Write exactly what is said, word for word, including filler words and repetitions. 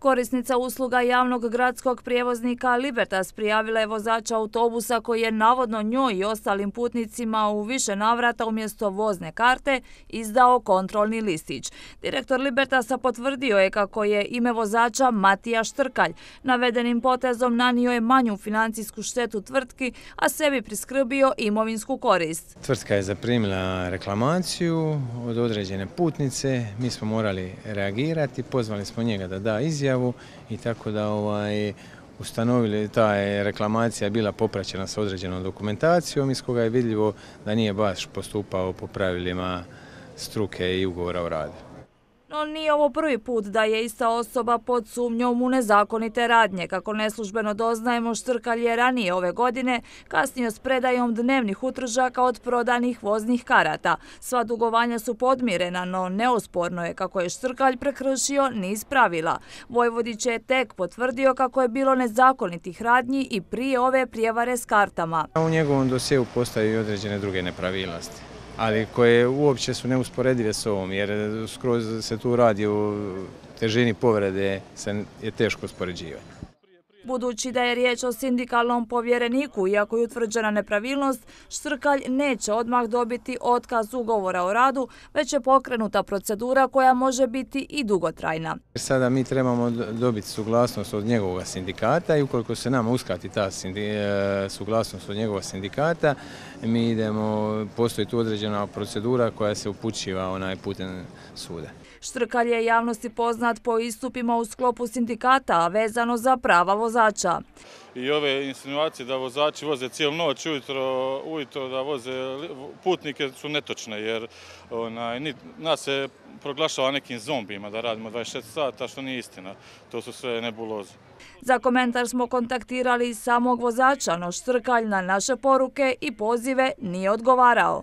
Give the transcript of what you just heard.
Korisnica usluga javnog gradskog prijevoznika Libertas prijavila je vozača autobusa koji je navodno njoj i ostalim putnicima u više navrata umjesto vozne karte izdao kontrolni listić. Direktor Libertasa potvrdio je kako je ime vozača Matija Štrkalj. Navedenim potezom nanio je manju financijsku štetu tvrtki, a sebi priskrbio imovinsku korist. Tvrtka je zaprimila reklamaciju od određene putnice, mi smo morali reagirati, pozvali smo njega da da izjavu i tako da ovaj, ustanovili ta je reklamacija bila popraćena sa određenom dokumentacijom iz koga je vidljivo da nije baš postupao po pravilima struke i ugovora o radu. No nije ovo prvi put da je ista osoba pod sumnjom u nezakonite radnje. Kako neslužbeno doznajemo, Štrkalj je ranije ove godine kasnio s predajom dnevnih utržaka od prodanih voznih karata. Sva dugovanja su podmirena, no neosporno je kako je Štrkalj prekršio niz pravila. Vojvodić je tek potvrdio kako je bilo nezakonitih radnji i prije ove prijevare s kartama. U njegovom dosjeu postoje i određene druge nepravilnosti, ali koje uopće su neusporedive s ovom, jer skroz se tu radi o težini povrede, se je teško uspoređivati. Budući da je riječ o sindikalnom povjereniku, iako je utvrđena nepravilnost, Štrkalj neće odmah dobiti otkaz ugovora o radu, već je pokrenuta procedura koja može biti i dugotrajna. Sada mi trebamo dobiti suglasnost od njegovog sindikata i ukoliko se nama uskrati ta suglasnost od njegovog sindikata, mi idemo, postoji tu određena procedura koja se upućiva onaj putem suda. Štrkalj je javnosti poznat po istupima u sklopu sindikata, a vezano za prava vozača. I ove insinuacije da vozači voze cijelu noć, ujutro, ujutro da voze putnike su netočne, jer onaj, nas se proglašava nekim zombijima da radimo dvadeset četiri sata, što nije istina. To su sve nebuloze. Za komentar smo kontaktirali samog vozača, no Štrkalj na naše poruke i pozive nije odgovarao.